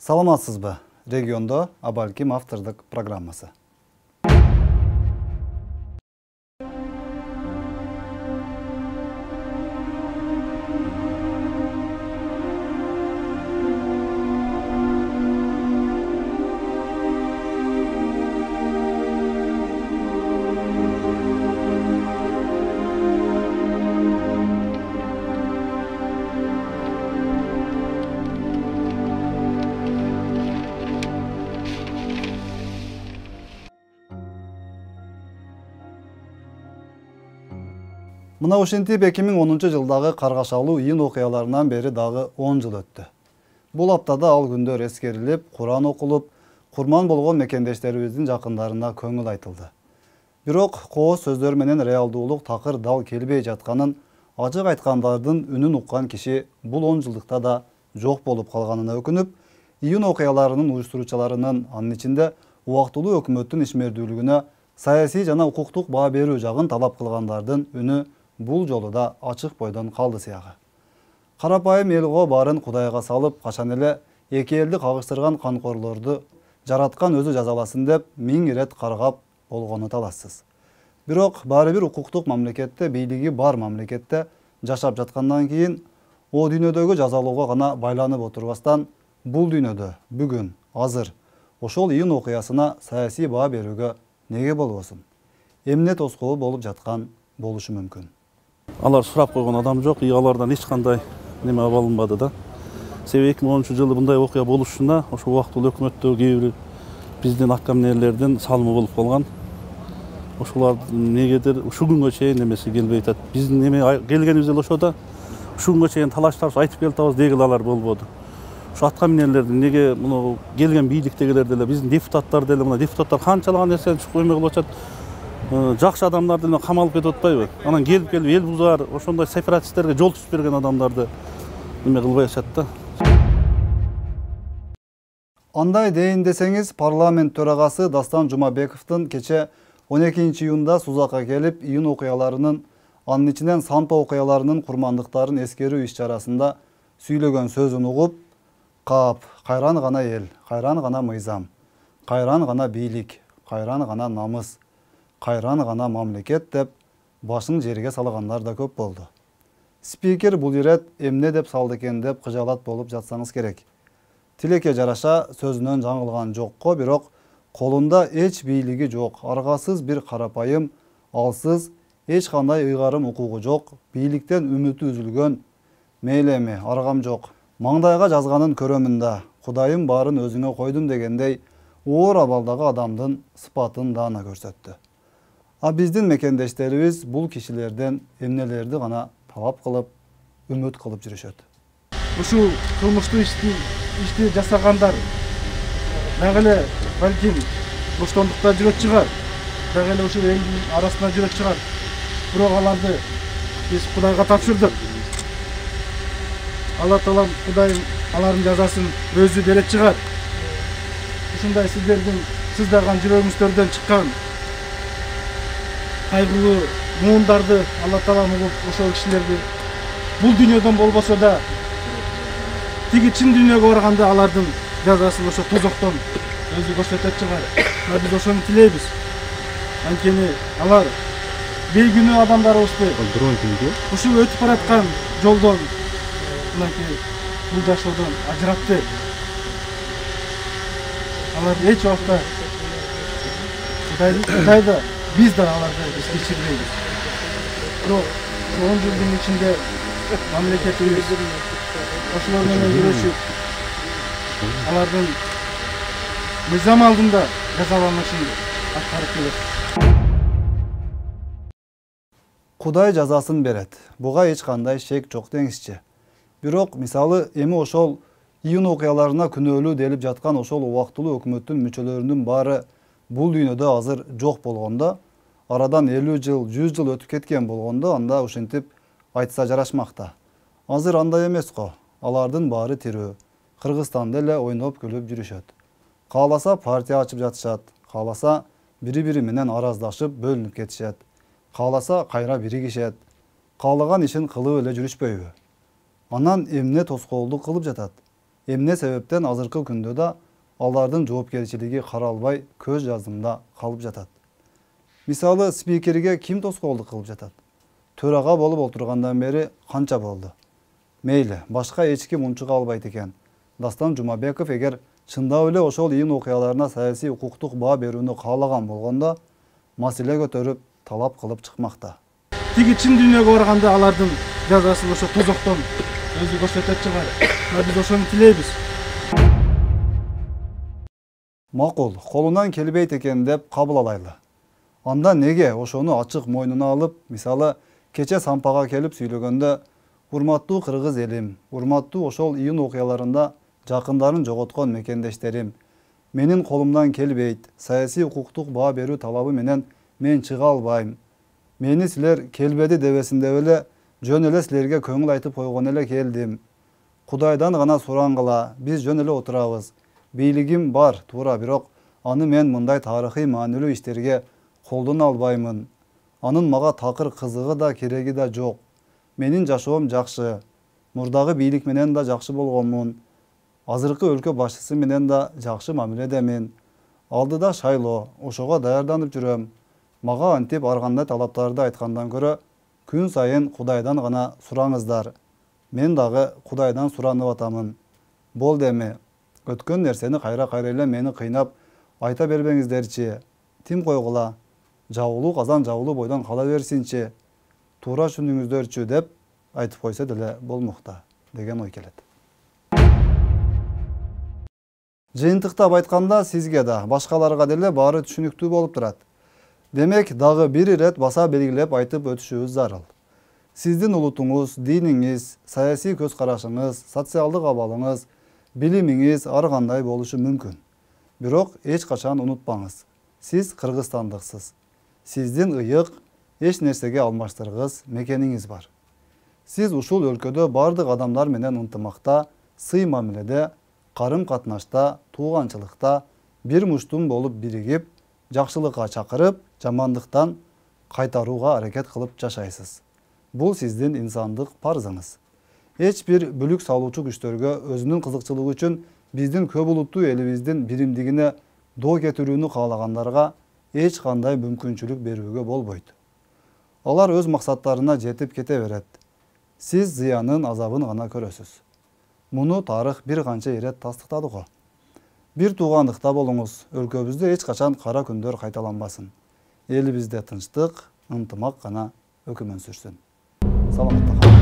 Саламатсызбы? Региондо Абалким автордук программасы. Мына ошентип 2010 жылдагы каргашалуу июнь окуяларынан бери дагы 10 жыл өттү. Бул аптада ал күндөр эскерилип, Куран окулуп, курман болгон мекендештерибиздин жакындарына көңүл айтылды. Бирок кооз сөздөр менен реалдуулук такыр дал келбей жатканын, ачык айткандардын үнүн уккан киши бул 10 жылдыкта да жок болуп калганына өкүнүп, июнь окуяларынын уюштуруучуларынын, анын ичинде убактылуу өкмөттүн ишмердүүлүгүнө саясий жана укуктук баа берүү жагын талап кылгандардын үнү бул жолу да ачык бойдон калды сыягы. Карапайым элго баарын Кудайга салып, качан эле эки элди кагыштырган канкорлорду жараткан өзү жазаласын деп 1000 ирет каргап болгону талассыз. Бирок баары бир укуктук мамлекетте, бийлиги бар мамлекетте жашап жаткандан кийин о дүйнөдөгү жазалоого гана байланып отурбастан, бул дүйнөдө бүгүн, азыр ошол июнь окуясына саясий баа берүүгө неге болбосун? Эмне тоскоол болуп жаткан болушу мүмкүн? Алар сурап койгон адам жок, алардан эч кандай неме алынбады да. Себеби 2010 жылы мындай окуя болушуна ошо убактылуу өкмөттө кээ бир биздин аткаминерлердин салымы болуп калган. Ошолар негедир ушу күнгө чейин немеси келбей атат. Биздин неме келгенибиз эле ошо да. Ушу күнгө чейин талаштап айтып келатабыз дегил алар болбоду. Ушу аткаминерлердин неге муну келген бийликтегилер деле, биздин депутаттар деле, мына депутаттар канчалаган нерсени чукуп эме кылып атат. Жакшы адамдарды эле камалып кетип атпайбы? Анан келип эл бузар, ошондой сепаратисттерге жол түзүп берген адамдарды эме кылбай атышат да. Андай дейин десеңиз, парламент төрагасы Дастан Жумабековдун кече 12 июнда Сузакка келип, июнь окуяларынын, анын ичинен Сампа окуяларынын курмандыктарын эскерүү иш-чарасында сүйлөгөн сөзүн угуп, кап, кайран гана эл, кайран гана мыйзам, кайран гана бийлик, кайран гана намыс, кайран гана мамлекет деп башын жерге салгандар да көп болду. Спикер бул ирет эмне деп салды экен деп кыжалат болуп жатсаңыз керек. Тилекке жараша сөзүнөн жаңылган жокко, бирок колунда эч бийлиги жок, аргасыз бир карапайым, алсыз, эч кандай ыйгарым укугу жок, бийликтен үмүтү үзүлгөн, мейли эми аргам жок, маңдайга жазганын көрөмүн да, Кудайым баарын өзүңө койдум дегендей оор абалдагы адамдын сыпатын даана көрсөттү. А биздин мекендештерибиз бул кишилерден эмнелерди гана талап кылып, үмүт кылып жүрүшөт. Ушул кылмыштуу ишти жасагандар дагы эле балким боштондукта жүрөт чыгар, дагы эле ушул элдин арасында жүрөт чыгар. Бирок аларды биз Кудайга тапшырдык. Алла Таалам Кудайым алардын жазасын өзү берет чыгар. Ушундай сиздердин сыздаган жүрөгүңүздөрдөн чыккан кайгылуу муундарды Алла Таалам угуп, ошол кишилерди бул дүйнөдөн болбосо да тиги чын дүйнөгө барганда алардын жазасын ошо тозоктон өзү көрсөтөт чыгар. Биз ошону тилейбиз. Анткени алар бейгүнөө адамдарыбызды ушул өтүп бараткан жолдон, мынакей бул жашоодон ажыратты. Алар эч убакта Кудайды биз да аларды кечирбейбиз. Бирок 10 жылдын ичинде мамлекетибиз ошолор менен күрөшүп, алардын мыйзам алдында жазаланышын аткарып келет. Кудай жазасын берет. Буга эч кандай шек жок деңизчи. Бирок мисалы эми ошол июнь окуяларына күнөөлүү делип жаткан ошол убактылуу өкмөттүн мүчөлөрүнүн баары бул дүйнөдө азыр жок болгондо, арадан 50 жыл, 100 жыл өтүп кеткен болгондо, анда ушинтип айтса жарашмакта. Азыр андай эмес го. Алардын баары тирүү. Кыргызстанда эле ойноп күлүп жүрүшөт. Кааласа партия ачып жатышат, кааласа бири-бири менен араздашып бөлүнүп кетишет. Кааласа кайра биригишет. Каалаган ишин кылып эле жүрүшпөйбү? Анан эмне тоскоолдук кылып жатат? Эмне себептен азыркы күндө да алардын жоопкерчилиги каралбай көз жаздымда калып жатат. Мисалы, спикерге ким тоскоолдук кылып жатат? Төрага болуп отургандан бери канча болду? Мейли, башка эч ким унчуга албайт экен. Дастан Жумабеков эгер чындап эле ошол ийин окуяларына саясий укуктук баа берүүнү каалаган болгондо, маселе көтөрүп, талап кылып чыкмакта. Тиги чын дүйнөгө барганда алардын жазасын ошо тозоктон өзү көрсөтөт чыгар. Биз ошону тилейбиз. Макул, колунан келбейт экен деп кабыл алайлы. Анда неге ошону ачык мойнуна алып, мисалы, кече Сампага келип сүйлөгөндө, урматтуу кыргыз элим, урматтуу ошол ийин окуяларында жакындарын жоготкон мекендештерим, менин колумдан келбейт, саясий укуктук баа берүү талабы менен мен чыга албайм. Мени силер келбеди дебесин деп эле, жөн эле силерге көңүл айтып койгон эле келдим. Кудайдан гана сурангыла, биз жөн эле отурабыз. Бийлигим бар, туура, бирок аны мен мындай тарыхый маанилүү иштерге колдоно албаймын. Анын мага такыр кызыгы да кереги да жок. Менин жашоом жакшы. Мурдагы бийлик менен да жакшы болгонмун. Азыркы өлкө башчысы менен да жакшы мамиледемин. Алдыда шайлоо, ошого даярданып жүрөм. Мага антип ар кандай талаптарды айткандан көрө, күн сайын Кудайдан гана сураңыздар. Мен дагы Кудайдан суранып атамын. Болду эми, өткөн нерсени кайра эле мени кыйнап айта бербеңиздерчи. Тим койгула, жабылуу казан жабылуу бойдон кала берсинчи. Туура түшүндүңүздөрчү деп айтып койсо деле болмокта деген ой келет. Жыйынтыктап айтканда сизге да, башкаларга деле баары түшүнүктүү болуп турат. Демек, дагы бир ирет баса белгилеп айтып өтүшүбүз зарыл. Сиздин улутуңуз, диниңиз, саясий көз карашыңыз, социалдык абалыңыз, билимиңиз ар кандай болушу мүмкүн. Бирок эч качан унутпаңыз. Сиз кыргызстандыксыз. Сиздин ыйык, эч нерсеге алмаштыргыс мекениңиз бар. Сиз ушул өлкөдө бардык адамдар менен ынтымакта, сый мамиледе, карым катнашта, тууганчылыкта бир муштум болуп биригип, жакшылыкка чакырып, жамандыктан кайтарууга аракет кылып жашайсыз. Бул сиздин инсандык парзыңыз. Эч бир бүлүк салуучу күчтөргө өзүнүн кызыкчылыгы үчүн биздин көп улуттуу элибиздин биримдигине доо кетирүүнү каалагандарга эч кандай мүмкүнчүлүк берүүгө болбойт. Алар өз максаттарына жетип кете берет. Сиз зыянын, азабын гана көрөсүз. Муну тарых бир канча ирет тастыктады го. Бир туугандыкта болуңуз, өлкөбүздө эч качан кара күндөр кайталанбасын. Элибизде тынчтык, ынтымак гана өкүмөн сүрсүн. Саламатта калыңыз.